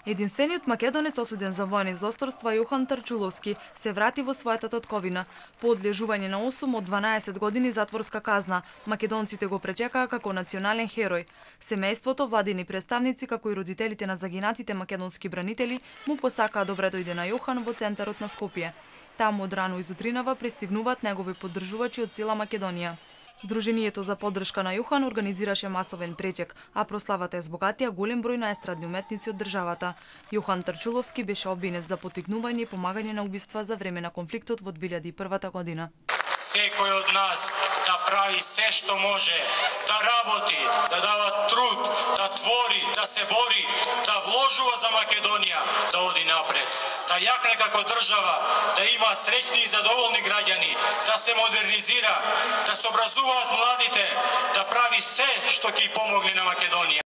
Единствениот македонец осуден за воени злосторства Јохан Тарчуловски се врати во својата татковина. По одлежување на 8 од 12 години затворска казна, македонците го пречекаа како национален херој. Семејството, владини представници, како и родителите на загинатите македонски бранители му посакаа добре дојде на Јохан во центарот на Скопје. Таму од рано изутринава пристигнуваат негови поддржувачи од цела Македонија. Сдруженијето за поддршка на Јохан организираше масовен пречек, а прославата ја збогатија голем број на естрадни уметници од државата. Јохан Тарчуловски беше обвинет за поттикнување и помагање на убиства за време на конфликтот во 2001 година. Секој од нас да прави се што може, да работи, да дава труд, да твори, да се бори, да вложува за Македонија, да оди напред, да јакне како држава, да има среќни и задоволни граѓани, да се модернизира, да се образуваат младите, да прави се што ќе помогне на Македонија.